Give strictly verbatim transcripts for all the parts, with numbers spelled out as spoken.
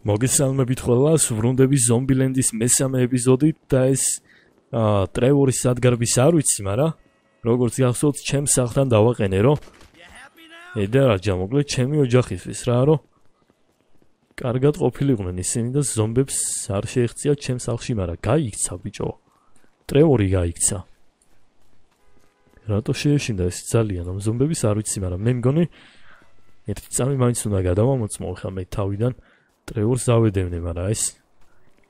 მოგესალმებით ყველას, ვრუნდები ზომბილენდის მესამე ეპიზოდით და ეს ტრევორის სადგარბის არ ვიცი, მაგრამ როგორც გახსოვთ, ჩემს სახლთან დავაყენე, რომ ედა რაჯა მოკლედ ჩემი ოჯახისთვის რა, რომ კარგად ყოფილიყვნენ ისინი და ზომბებს არ შეეღწიათ ჩემს სახლში, მაგრამ გაიქცა ბიჭო. ტრევორი გაიქცა. რატო შეეშინდა ეს ძალიან, ამ ზომბების არ ვიცი, მაგრამ მე მგონი ერთი წამი მაინც უნდა გადავამოწმო ხა მე თავიდან ტრევორს დავედევნე, მაგრამ ეს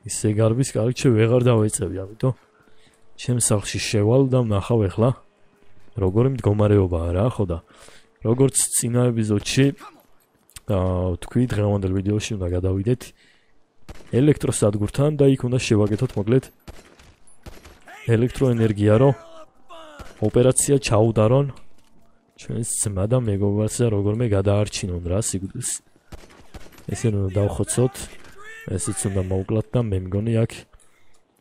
ისე გარბის კარგჩე ვეღარ დავეწევი, ამიტომ ჩემს სახლში შევალ და ვნახავ ახლა როგორი მდგომარეობაა რა, ხო და როგორც წინა ეპიზოდში აა თქვი დღევანდელ ვიდეოში უნდა გადავიდეთ ელექტროსადგურთან და იქ უნდა შევაკეთოთ მოკლედ ელექტროენერგია, რომ ოპერაცია ჩაუდარონ ჩვენს ძმა და მეგობარს და როგორმე გადაარჩინონ რა სიკვდილს. ესე უნდა დავხოცოთ, ესეც უნდა მოვკლათ და მე მგონი აქ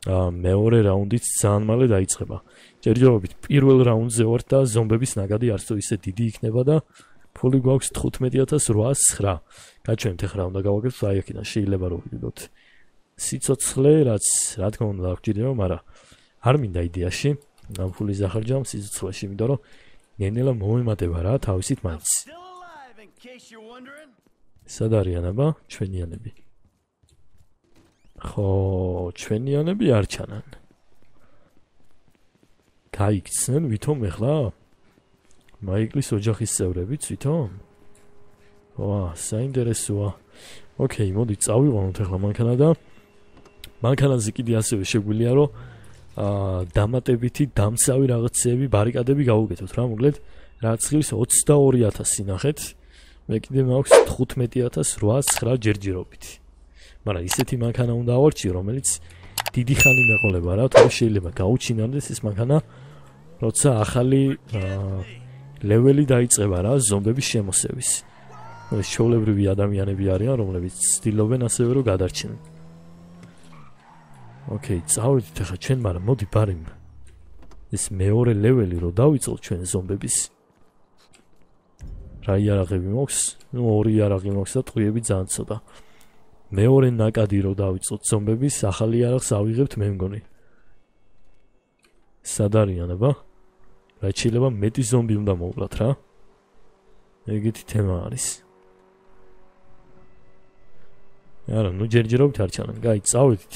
მეორე რაუნდიც ძალიან მალე დაიწყება. ჯერჯერობით პირველ რაუნდზე ვარ და ზომბების ნაკადი არც თუ ისე დიდი იქნება და ფული გვაქვს თხუთმეტი ათას რვაას ცხრა. გაჩვენთ ახლა უნდა გავაკეთოთ აი აქედან შეიძლება რომ ვიდოთ სიცოცხლე, რაც რა თქმა უნდა გვჭირდება, მაგრამ არ მინდა იდეაში ამ ფულის ახარჯამ სიცოცხლეში, იმიტომ რომ ნენელა მომემატება რა თავისით მაინც. სად არიან აბა ჩვენიანები? ხო, ჩვენიანები არ ჩანან. გაიქცნენ ვითომ ახლა? მაიკლის ოჯახის წევრებიც ვითომ? ვა, საინტერესოა. ოკეი, მოდი წავიყვანოთ ახლა მანქანა და მანქანაზე კიდე ასევე შეგვიძლია რომ აა დამატებითი დამცავი რაღაცები, ბარიკადები გავუკეთოთ რა, მოკლედ რაც ხილს ოცდაორი ათასი ნახეთ. მე კიდე მაქვს თხუთმეტი ათას რვაას ცხრა ჯერჯერობით. მაგრამ ისეთი მანქანა უნდა ავარჩიო, რომელიც დიდი ხანი მეყოლება რა, თორე შეიძლება გაუჩინარდეს ეს მანქანა, როცა ახალი ლეველი დაიწყება რა, ზომბების შემოსევის. ეს ჩვეულებრივი ადამიანები არიან, რომლებიც ცდილობენ ასევე რომ გადარჩნენ. ოკეი, წავედით ახლა ჩვენ, მაგრამ მოდი ბარემ ეს მეორე ლეველი რომ დავიწყოთ ჩვენ ზომბების. რა იარაღები მოქვს? ნუ ორი იარაღი მოქვს და ტყვიები ძალიან ცოტა. მეორე ნაკადი რომ დავიწყოთ ზომბების, ახალი იარაღს ავიღებთ მე მგონი. სად არიან აბა? რა შეიძლება მეტი ზომბი უნდა მოვკლათ რა? ეგეთი თემა არის. არა, ნუ ჯერჯერობით არ ჩანან. გაი, წავედით.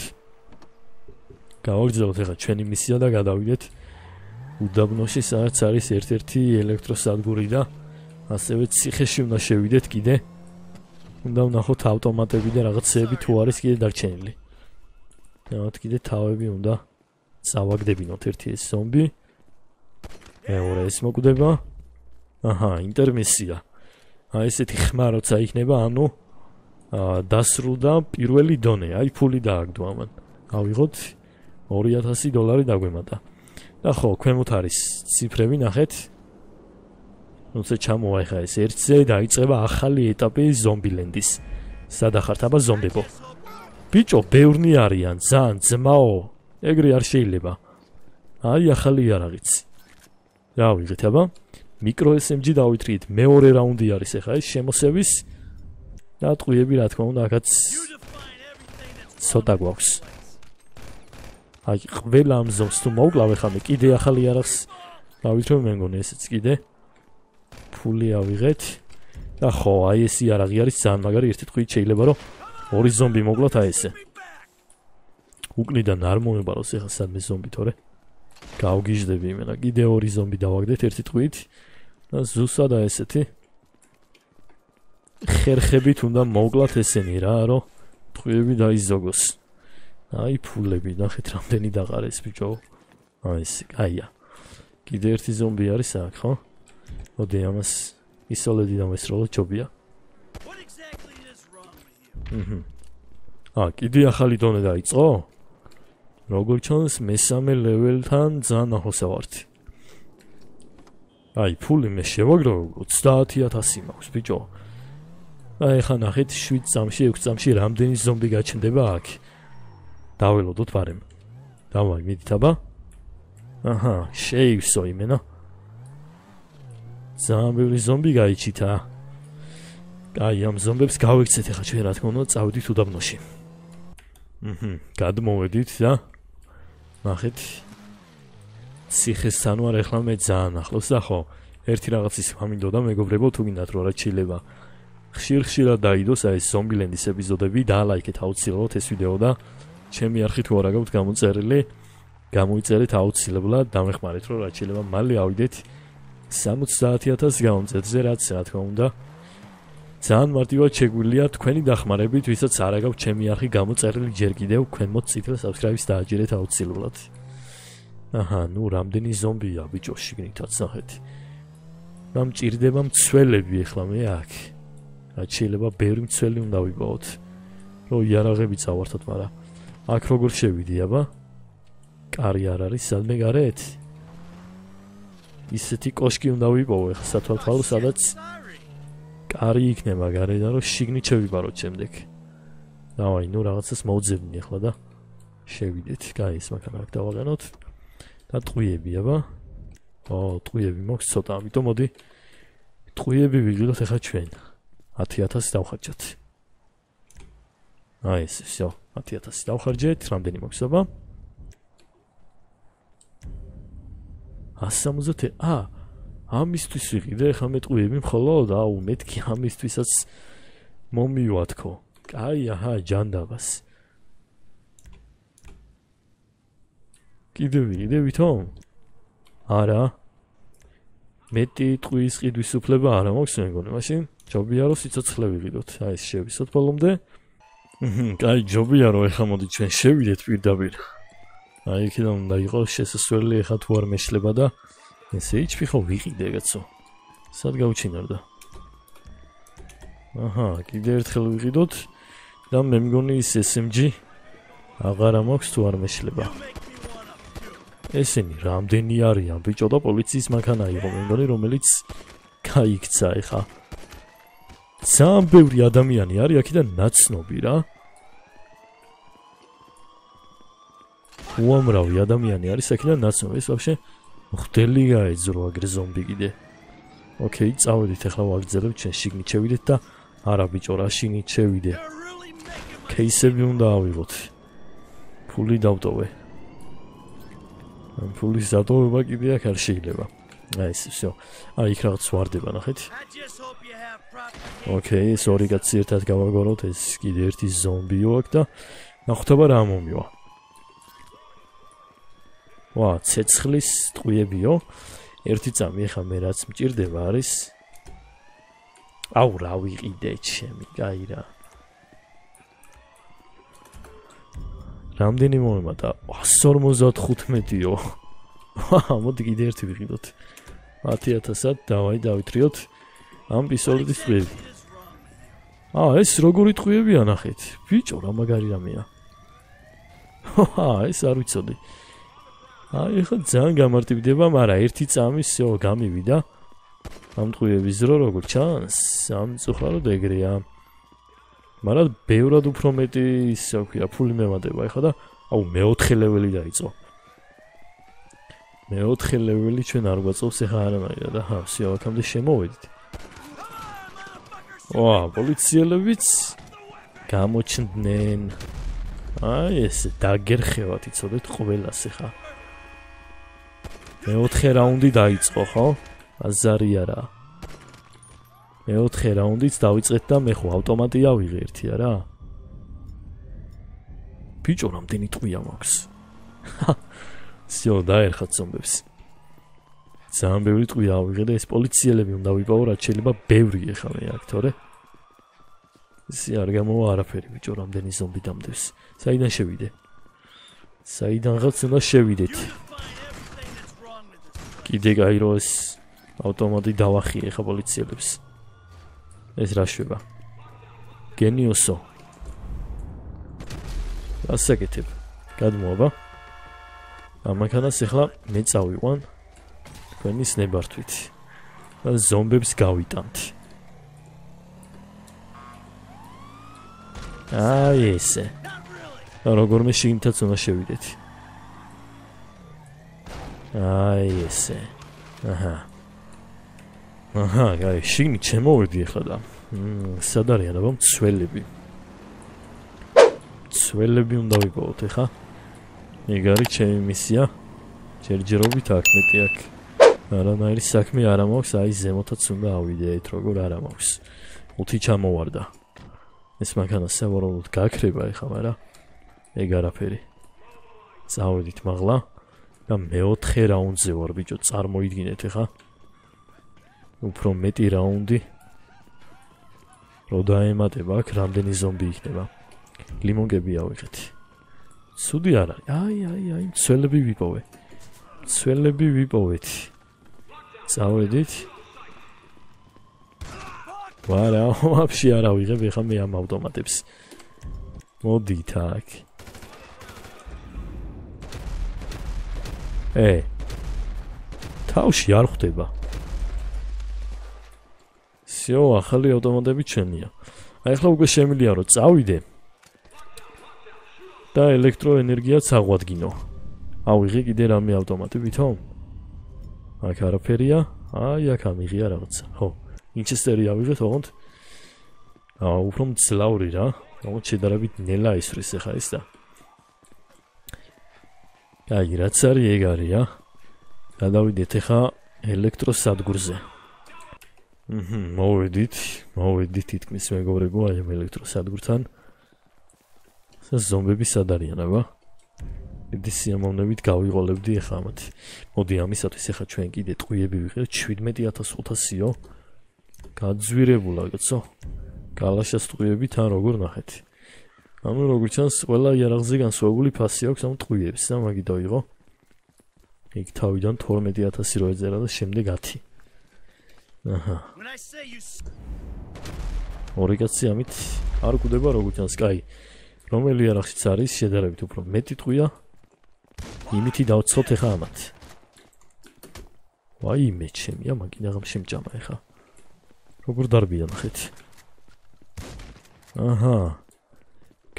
გავაგრძელოთ ახლა ჩვენი მისია და გადავიდეთ უდაბნოში, სადაც არის ერთ-ერთი ელექტროსადგური და ასევე ციხეში უნდა შევიდეთ კიდე. უნდა ვნახოთ ავტომატები და რაღაცეები თუ არის კიდე დარჩენილი. ნახოთ კიდე თავები უნდა წავაგდებინოთ, ერთი ეს ზომბი. მეორე ეს მოკვდება. აჰა, ინტერმისია. აი ესეთი ხმა როცა იქნება, ანუ დასრულდა პირველი დონე. აი ფული დააგდო ამან. ავიღოთ ორი ათასი დოლარი დაგვემატა. და ხო, ქვემოთ არის ციფრები, ნახეთ. როცა ჩამოვა ხა ეს ერთზე დაიწყება ახალი ეტაპი ზომბილენდის. სად ახართ აბა ზომბებო? ბიჭო, ბევრნი არიან, ძალიან ძმაო. ეგრე არ შეიძლება. აი ახალი იარაღიც. რა ვიღეთ აბა? მიკრო ეს ემ ჯი დავითრიეთ. მეორე რაუნდი არის ახლა ეს შემოსევის. და ტყვიები რა თქმა უნდა აქაც ცოტა გვაქვს. აი ყველა ამ ზომს თუ მოვკლავ ახლა მე კიდე ახალი იარაღს დავითრო მე მგონი ესეც კიდე. ფული ავიღეთ და ხო, აი ეს იარაღი არის ძალიან მაგარი, ერთი ტყვით შეიძლება რომ ორი ზომბი მოკლათ აი ესე. უკნიდან არ მომებაროს ახლა სადმე ზომბი, თორე გავგიჟდები იმენა. კიდე ორი ზომბი დავაგდეთ ერთი ტყვით და ზუსტად აი ესეთი ხერხებით უნდა მოკლათ ესენი რა, რომ ტყვიები დაიზოგოს. აი ფულები, ნახეთ რამდენი დაყარეს ბიჭო. აი ეს, აია. კიდე ერთი ზომბი არის აქ, ხო? მოდი ამას ისოლედი დამესროლოთ ჯობია. აჰა. აა, კიდე ახალი დონე დაიწყო? როგორ ჩანს მესამე ლეველთან ძალიან ახლოს ვართ. აი, ფული მე შევაგრო ოცდაათი ათასი მაქვს ბიჭო. აი ხა ნახეთ შვიდ წამში, ექვს წამში რამდენი ზომბი გაჩნდება აქ. დაველოდოთ ბარემ. დავაი, მიდით აბა? აჰა, შეივსო იმენა. ძალიან ბევრი ზომბი გაიჩითა. აი, ამ ზომბებს გავიქცეთ ახლა ჩვენ რა თქმა უნდა, წავედით უდაბნოში. აჰა, გადმოვედით და ნახეთ. ციხესთან ვარ ახლა მე ძალიან ახლოს და ხო, ერთი რაღაცის მამინდოდა მეგობრებო, თუ გინდათ რომ რა შეიძლება. ხშირ-ხშირად დაიდოს აი ეს ზომბილენდის ეპიზოდები და ლაიქეთ აუცილებლად ეს ვიდეო და ჩემი არხით თუ არა გაქვთ გამოწერილი, გამოიწერეთ აუცილებლად, დამეხმარეთ რომ რა შეიძლება მალე ავიდეთ სამოცდაათი ათასი გამომწერზე, რაც რა თქმა უნდა ძალიან მარტივად შეგვიძლია თქვენი დახმარებით, ვისაც არ აქვს ჩემი არხი გამოწერილი ჯერ კიდევ, ქვემოთ წითელ subscribe-ს დააჯერეთ აუცილებლად. აჰა, ნუ რამდენი ზომბია ბიჭო შიგნითაც ნახეთ. რა მჭირდება მცველები ახლა მე აქ. რაც შეიძლება ბევრი მცველი უნდა ვიპოვოთ. რომ იარაღები წავართოთ, მაგრამ აქ როგორ შევიდი, აბა? კარი არ არის, სადმე გარეთ? ისეთი კოშკი უნდა ვიპოვო ახლა სათვალთვალო, სადაც კარი იქნება გარედან, რომ შიგნით შევიბაროთ შემდეგ. დავაი, ნუ რაღაცას მოვძებნი ახლა და შევიდეთ. კაი, ეს მაქანა აქ დავაყენოთ. და ტყვიები, აბა? ო, ტყვიები მოქვს ცოტა, ამიტომ მოდი ტყვიები ვიღიდოთ ახლა ჩვენ. ათი ათასი დავხარჯოთ. აი ეს, всё, ათი ათასი დავხარჯეთ, რამდენი მოქვს, აბა? ასი ოცდაათი, ა, ამისთვის ვიყიდე ახლა მე ტყვიები მხოლოდ, აუ, მეთქი ამისთვისაც მომივათქო. აი, აჰა, ჯანდაბას. კიდე ვიყიდე ვითომ? არა. მეტი ტყვის ყიდვის უფლება არა მაქვს მეგონი, მაშინ ჯობია რომ სიცოცხლე ვიყიდოთ. აი ეს შევისოთ ბოლომდე. აჰა, კაი, ჯობია რომ ეხლა მოდი ჩვენ შევიდეთ პირდაპირ. აი იქიდან უნდა იყოს შესასვლელი ეხლა თუ არ მეშლება და ესე იჩფი ხო ვიყიდე კაცო. სად გავჩინარდა? აჰა, კიდე ერთხელ ვიყიდოთ და მე მგონი ის ეს ემ ჯი აღარა მაქვს თუ არ მეშლება. ესენი რამდენი არიან ბიჭო და პოლიციის მანქანა იყო მე მგონი რომელიც გაიქცა ეხა. ძალიან ბევრი ადამიანი არის აქედან ნაცნობი რა. უამრავი ადამიანი არის აქედან ნაცნობი. ეს ვაფშე ხდელი გაეძრო აგრე ზომბი კიდე. ოკეი, წავედით ახლა ვაგრძელებთ ჩვენ შიგნით შევიდეთ და არა ბიჭო რა შიგნით შევიდე. кейსები უნდა ავიღოთ. ფული დავტოვე. ამ ფულის დატოვება კიდე აქ არ შეიძლება. აი ეს, всё. აი იქ რაღაც ვარდება ნახეთ. ოკეი, ეს ორი კაცი ერთად გავაგოროთ, ეს კიდე ერთი ზომბიო აქ და ნახოთ აბა რა მომივა. ვა, ცეცხლის ტყვიებიო. ერთი წამი ახლა მე რაც მჭირდება არის. აუ, რა ვიყიდე ჩემი, კაი რა. რამდენი მომემატა? ასი ორმოცდახუთმეტიო. ვა, მოდი კიდე ერთი ვიყიდოთ. ათი ათასად დავაი დავითრიოთ ამ პისტოლეტის ტყვიები. აა, ეს როგორი ტყვიებია ნახეთ. ბიჭო, რა მაგარი რამეა. ვა, ეს არ ვიცოდი. აი, ხო ძალიან გამარტივდება, მაგრამ ერთი წამი всё გამივიდა. ამ ტყვიების დრო როგორ ჩანს? სამწუხაროდ ეგრეა. მაგრამ ბევრად უფრო მეტი ისე ვქია, ფული მემატება ეხლა და აუ მეოთხე ლეველი დაიწყო. მეოთხე ლეველი ჩვენ არ გვაწევს ეხლა არანაირად და ჰა, всё, აქამდე შემოვედით. ვა, პოლიციელებიც გამოჩნდნენ. აი ეს დაგერხევათ, იცოდეთ ყველას ეხლა. მეოთხე რაუნდი დაიწყო, ხო? აზარი არა. მეოთხე რაუნდიც დავიწყეთ და მე ხო ავტომატი ავიღე ერთი არა? ბიჭო, რამდენი ტყვია მაქვს? всё, დაერხათ ზომბებს. ძალიან ბევრი ტყვია ავიღე და ეს პოლიციელები უნდა ვიპოვო, რაც შეიძლება ბევრი ეხლა მე აქ, თორე ისე არ გამოვა არაფერი ბიჭო, რამდენი ზომბი დამდევს. საიდან შევიდე? საიდანღაც უნდა შევიდეთ. კიდე გაირო ეს ავტომატი დავახიე ხა პოლიციელებს. ეს რა შვება? გენიოსო. ასაკეთებ. გადმოაბა. ამანქანას ახლა მე წავიყვან თქვენი სნებართვით. და ზომბებს გავიტანთ. აი ესე. როგორმე შიგნითაც უნდა შევიდეთ. აი ესე. აჰა. აჰა, გაი, შიგნით შემოვედი ახლა და სად არიან აბა მცველები? მცველები უნდა ვიპოვოთ ეხა. ეგ არის ჩემი მისია. ჯერჯერობით აქ მეტი აქ. არანაირი საქმე არ მაქვს, აი ზემოთაც უნდა ავიდეთ, როგორ არ მაქვს. უთი ჩამოვარდა. ეს მანქანა სავარაუდოდ გაქრება ეხა, მაგრამ ეგ არაფერი. წავედით მაღლა და მეოთხე რაუნდზე ვარ ბიჭო, წარმოიდგინეთ ეხა. უფრო მეტი რაუნდი. რო დაემატება აქ რამდენი ზომბი იქნება. ლიმონგები ავიღეთ. ცუდი არ არის. აი, აი, აი, მცველები ვიპოვე. მცველები ვიპოვეთ. წავედით. ვარა, ვაფშე არ ავიღებ ეხა მე ამ ავტომატებს. მოდით აქ. ე. თავში არ ხვდება. всё, ახალი ავტომატები ჩვენია. აი ახლა უკვე შემიძლია რომ წავიდე. და ელექტროენერგიაც აღვადგინო. ავიღე კიდე რამე ავტომატი ვითომ? აქ არაფერია. აი აქ ამიღია რაღაცა. ხო, ინჩესტერი ავიღეთ, ოღონდ აა უფრო მძლავრი რა. ოღონდ შედარებით ნელა ისვრის ახლა ის და. აი რაც არის ეგ არის რა. გადავიდეთ ახლა ელექტროსადგურზე. აჰა, მოვედით, მოვედით თითქმის მეგობრებო, აი ამ ელექტროსადგურთან. ზომბები სად არიან აბა? დიდი სიამოვნებით გავიყოლებდი ახლა ამათი. მოდი ამისათვის ახლა ჩვენ კიდე ტყვიები ვიღებთ შვიდმეტი ათას ხუთასიო. გაძვირებულა კაცო. გალაშას ტყვიები თან როგორ ნახეთ. ანუ როგორც ჩანს, ყველა იარაღზე განსხვავებული ფასი აქვს ამ ტყვიებს და მაგი დაიღო. იქ თავიდან თორმეტი ათასი რო ეძერა და შემდეგ ათი. აჰა. ორი კაცი ამით არ კვდება როგორც ჩანს, კაი. რომელი იარაღშიც არის შედარებით უფრო მეტი ტყვია. იმითი დავცოთ ეხა ამათ. ვაი მე ჩემია, მაგინ აღარ შემჭამა ეხა. როგორ დარბია ნახეთ. აჰა.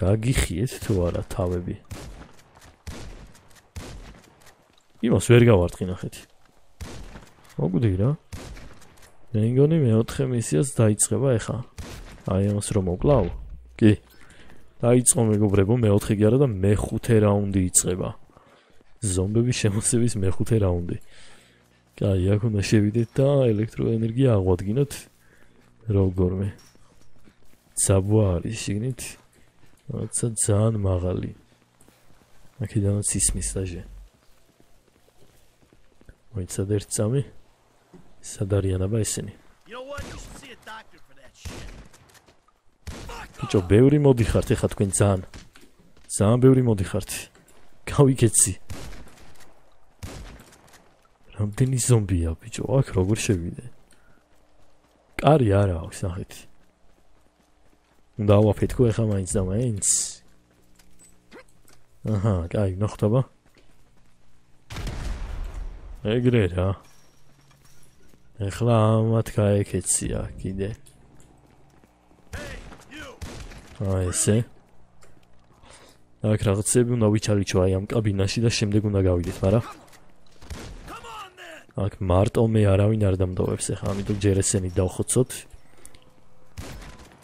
გაგიხიეთ თუ არა თავები. იმას ვერ გავარტყი ნახეთ. მოგვდი რა. მე მგონი მეოთხე მისიაც დაიწყება ეხა. აი ამას რომ მოკლავ? კი. დაიწყო მეგობრებო, მეოთხე კი არა და მეხუთე რაუნდი იწყება. ზომბების შემოსევის მეხუთე რაუნდი. კაი, აქ უნდა შევიდეთ და ელექტროენერგია აღვადგინოთ როგორმე. საბვა არის შიგნით. რაცა ძალიან მაღალი. აქედანაც ისმის დაჟე. მოიცად ერთ წამი. სად არიან აბა ესენი? ბიჭო, ბევრი მოდიხართ ეხა თქვენ ძალიან. ძალიან ბევრი მოდიხართ. გავიკეთსი. რამდენი ზომბია ბიჭო, აქ როგორ შევიდე? კარი არა აქვს, ნახეთ. უნდა ავაფეთქო ეხა მაინც და მაინც. აჰა, კაი, ნახოთ აბა. ეგრე რა. ეხლა ამათ გაეკეცია კიდე. აი ესე. აქ რაღაცები უნდა ვიჩალიჩო აი ამ კაბინაში და შემდეგ უნდა გავიდეთ, მაგრამ აქ მარტო მე არავინ არ დამდოვებს ეხლა, ამიტომ ჯერ ესენი დავხოცოთ.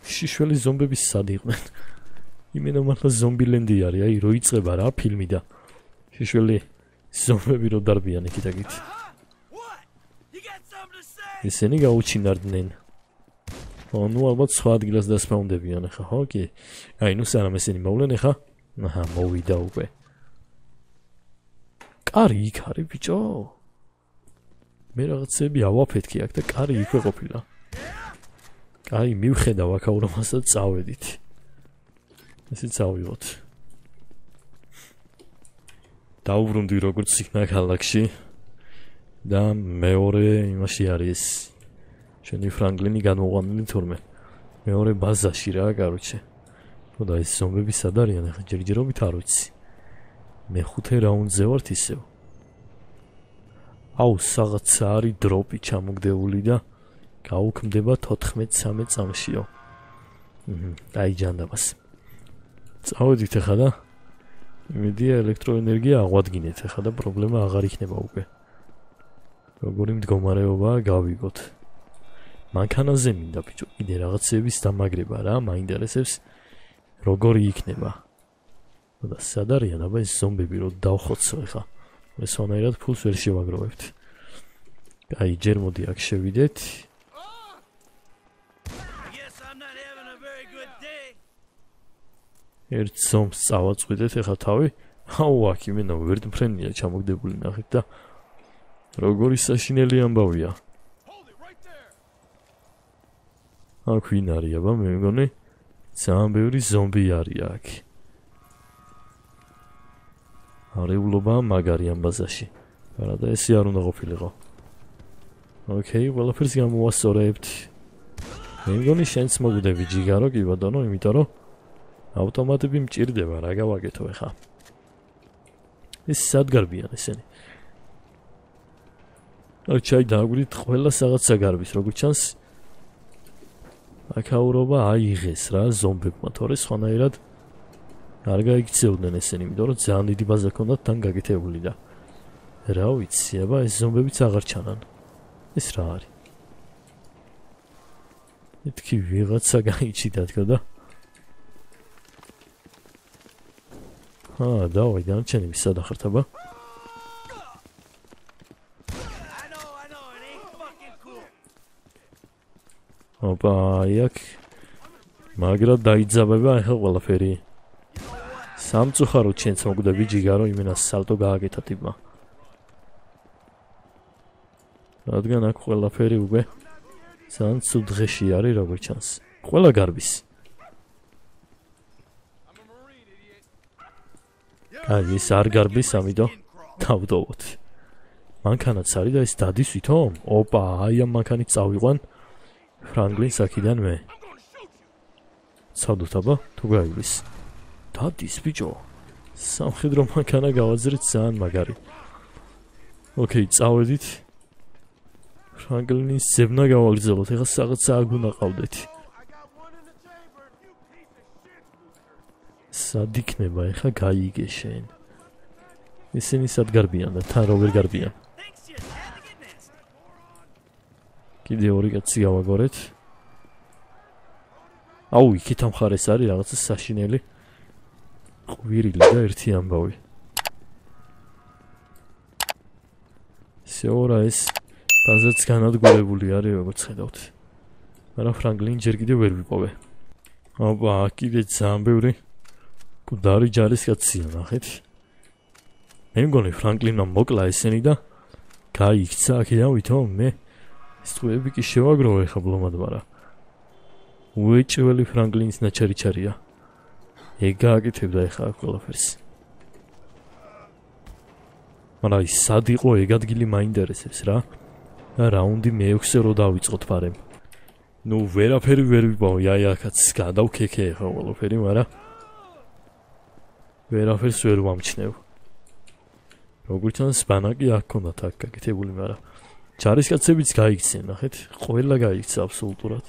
შიშველი ზომბების სად იყვნენ? იმენა მართლა ზომბილენდი არის, აი რო იწყება რა ფილმი და შიშველი ზომბები რო დარბიან იქით აქით. ესენი გაუჩინარდნენ. ანუ ალბათ სხვა ადგილას დასპაუნდებიან ახლა, ხო კი? აი ნუ სანამ ესენი მოვლენ ახლა. აჰა, მოვიდა უკვე. კარი იქ არის ბიჭო. მე რაღაცები ავაფეთქი აქ და კარი იქვე ყოფილა. კაი, მივხედავ აქაურომას და წავედით. ესეც ავიღოთ. დავუბრუნდი როგორც იქნა ქალაქში და მეორე იმაში არის ჩვენი ფრანგლინი განმოყვანილი თურმე. მეორე ბაზაში რა, კაროჩე. ხო და ეს ზომბები სად არიან ახლა ჯერჯერობით არ ვიცი. მეხუთე რაუნდზე ვართ ისევ. აუ, რაღაცა არის დროპი ჩამოგდეული და გაუქმდება თოთხმეტ-ცამეტ წამშიო. აჰა, აი ჯანდაბას. წავედით ახლა და იმედია ელექტროენერგია აღვადგინეთ ახლა და პრობლემა აღარ იქნება უკვე. როგორი მდგომარეობაა გავიგოთ. მანქანაზე მინდა ბიჭო, კიდე რაღაცების დამაგრება რა, მაინტერესებს როგორი იქნება. და სად არიან აბა ეს ზომბები რო დავხოცო ხა. ეს ვანაირად ფულს ვერ შევაგროვებთ. აი, ჯერ მოდი აქ შევიდეთ. ერთ ზომს წავაწყვიდეთ ეხა თავი. აუ, აქ იმენა ვერტმფრენია ჩამოგდებული ნახეთ და როგორი საშინელი ამბავია. აქ ვინ არის აბა მე მგონი ძალიან ბევრი ზომბი არის აქ. არეულობა მაგარი ამ ბაზაში. არადა ესე არ უნდა ყოფილიყო. ოკეი, ყველაფერს გამოვასწორებთ. მე მგონი შენც მოგვდები ჯიგარო კი ბატონო, იმიტომ რომ ავტომატები მჭირდება რა გავაკეთო ეხა. ეს სად გარბიან ესენი? არ ჩაი დააგვირით ყველა რაღაცა გარბის, როგორ ჩანს აკაურობა აიღეს რა ზომბებმა, თორე სხვანაირად არ გაიქცეოდნენ ესენი, იმიტომ რომ ძალიან დიდი ბაზა ჰქონდათ თან გაკეთებული და რა ვიცი, აბა ეს ზომბებიც აღარ ჩანან. ეს რა არის? მეთქი ვიღაცა გაიჩიდა თქო და აა, დავაი, დანარჩენები სად ახართ აბა? ოპა, იქ მაგრად დაიძაბება ახლა ყველაფერი. სამწუხაროდ შენც მოგვდები ჯიგარო, იმენა სალტო გააკეთა ტიპმა. რადგან აქ ყველაფერი უკვე ძალიან ცუდ დღეში არის, როგორ ჩანს. ყველა გარბის. აი, ეს არ გარბის, ამიტომ დავდოვოთ. მანქანაც არის და ეს დადის ვითომ? ოპა, აი ამ მანქანით წავიყვან ფრანგლინს აქიდან მე. ცადოთ აბა, თუ გაივლის. დადის ბიჭო. სამხედრო მანქანა გავაძრეთ ძალიან მაგარი. ოკეი, წავედით. ფრანგლინის ზებნა გავაგრძელოთ, ეხლა რაღაცა აქ უნდა ყავდეთ. სად იქნება ეხლა გაიგე შენ. ისინი სად გარბიან და თან როგორ გარბიან? კიდე ორი კაცი გავაგორეთ. აუ, იქით ამ მხარეს არის რაღაცა საშინელი ყვირილი და ერთი ამბავი. შეორა ეს ბაზაც განადგურებული არის, როგორც ხედავთ. მაგრამ ფრანგლინი ჯერ კიდევ ვერ ვიპოვე. აბა, კიდე ძალიან ბევრი კუდარი ჯარისკაცია, ნახეთ. მე მგონი ფრანგლინმა მოკლა ესენი და გაიქცა აქედან ვითომ მე ეს ტყუები კი შევაგროვე ხა ბლომად, მაგრამ უეჭველი ფრანგლინის ნაჩარიჩარია. ეგ გააკეთებდა ეხა აქ ყველაფერს. მაგრამ ის სად იყო ეგ ადგილი მაინტერესებს რა. და რაუნდი მეექვსე რო დავიწყოთ ფარემ. ნუ ვერაფერი ვერ ვიპოვე, აი აქაც გადავქექე ეხა ყველაფერი, მაგრამ ვერაფერს ვერ ვამჩნევ. როგორც ჩანს ბანაკი აქ ქონდათ აქ გაკეთებული, მაგრამ ჯარისკაცებიც გაიქცნენ, ნახეთ, ყველა გაიქცა აბსოლუტურად.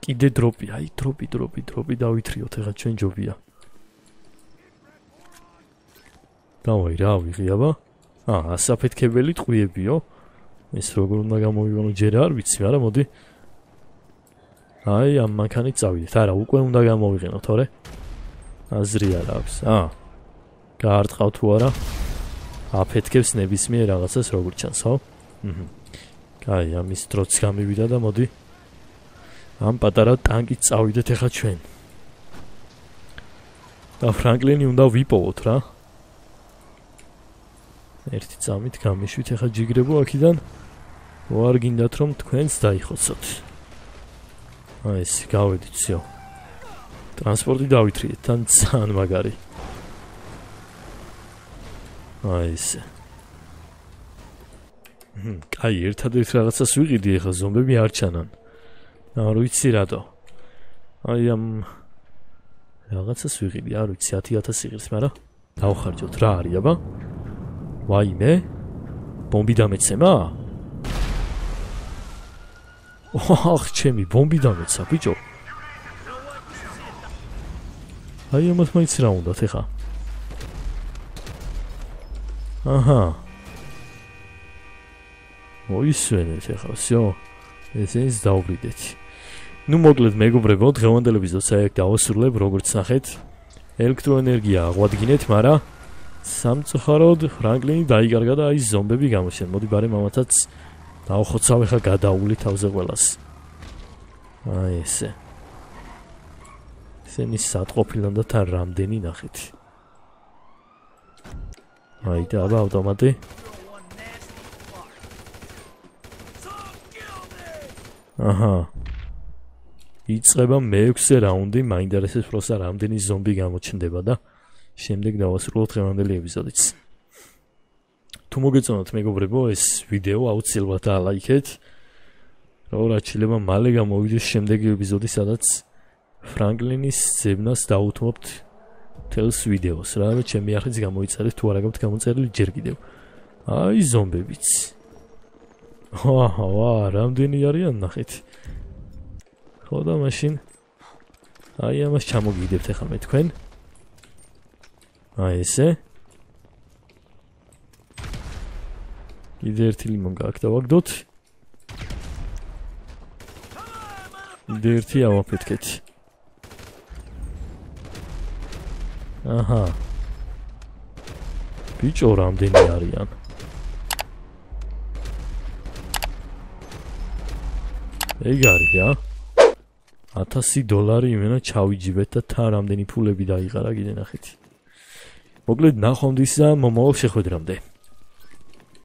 კიდე დროპი, აი დროპი, დროპი, დროპი დავითრიოთ, ეხლა ჩვენ ჯობია. დავაი, რა ვიღი აბა? აა, ასაფეთქებელი ტყვიებიო. ეს როგორ უნდა გამოვიგონო, ჯერ არ ვიცი, მაგრამ მოდი. აი, ამ მანქანით წავიდეთ. არა, უკვე უნდა გამოვიყენო, თორე აზრი არ აქვს. აა. გაარტყავ თუ არა? აფეთქებს ნებისმიერ რაღაცას, როგორ ჩანს, ხო? აჰა. კაი, ამის დროც გამივიდა და მოდი. ამ პატარა ტანკით წავიდეთ ეხლა ჩვენ. და ფრანგლინი უნდა ვიპოვოთ რა. ერთი წამით გამიშვით ეხლა ჯიგრებო აქიდან. ვარ გინდათ რომ თქვენს დაიხოცოთ. აი ეს გავედით всё. ტრანსპორტი დავითრიეთ, თან ძალიან მაგარი. აი ეს. ჰმ, კაი, ერთადერთ რაღაცას ვიყიდი ეხლა ზომბები არ ჩანან. არ ვიცი რატო. აი ამ რაღაცას ვიყიდი, არ ვიცი ათი ათასი იღებს, მაგრამ დავხარჯოთ რა არის აბა? ვაიმე? ბომბი დამეცემა? ოხ, ჩემი ბომბი დამეცა, ბიჭო. აი ამათ მაინც რა უნდათ ეხა? აჰა. მოისვენეთ ეხლა, всё. ესე ის დავვრიდეთ. ნუ მოკლედ მეგობრებო, დღევანდელ ეპიზოდს აქ დავასრულებ, როგორც ნახეთ. ელექტროენერგია აღვადგინეთ, მაგრამ სამწუხაროდ ფრანკლინი დაიკარგა და აი ზომბები გამოჩნდნენ. მოდი ბარემ ამათაც დავხოცავ ხა გადაული თავზე ყველას. აი ესე. ესენი სატყოფილან და თან რამდენი ნახეთ. აი და აბა ავტომატი. აჰა. იწყება მეექვსე რაუნდი, მაინტერესებს პროსა რამდენი ზომბი გამოჩნდება და შემდეგ დავასრულოთ დღევანდელი ეპიზოდიც. თუ მოგეწონათ მეგობრებო, ეს ვიდეო აუცილებლად დაალაიქეთ. რომ რაც შეიძლება მალე გამოვიდეს შემდეგი ეპიზოდი, სადაც ფრანკლინის ძებნას დაუთმობთ თელს ვიდეოს. რა რა ჩემი არხიც გამოიწერეთ, თუ არა გაქვთ გამოწერილი ჯერ კიდევ. აი ზომბებიც. აჰა, რამდენი არიან ნახეთ. ხო და მაშინ აი ამას ჩამოგიგდებთ ახლა მე თქვენ. აი ესე. კიდე ერთი ლიმონ გაქვს დავაგდოთ. კიდე ერთი ავაფეთქეთ. აჰა. ბიჭო რამდენი არიან? ეგ არის რა. ათასი დოლარი იმენა ჩავიჯიბეთ და თან რამდენი ფულები დაიყარა კიდე ნახეთ. მოკლედ ნახვამდის და მომავალ შეხვედრამდე.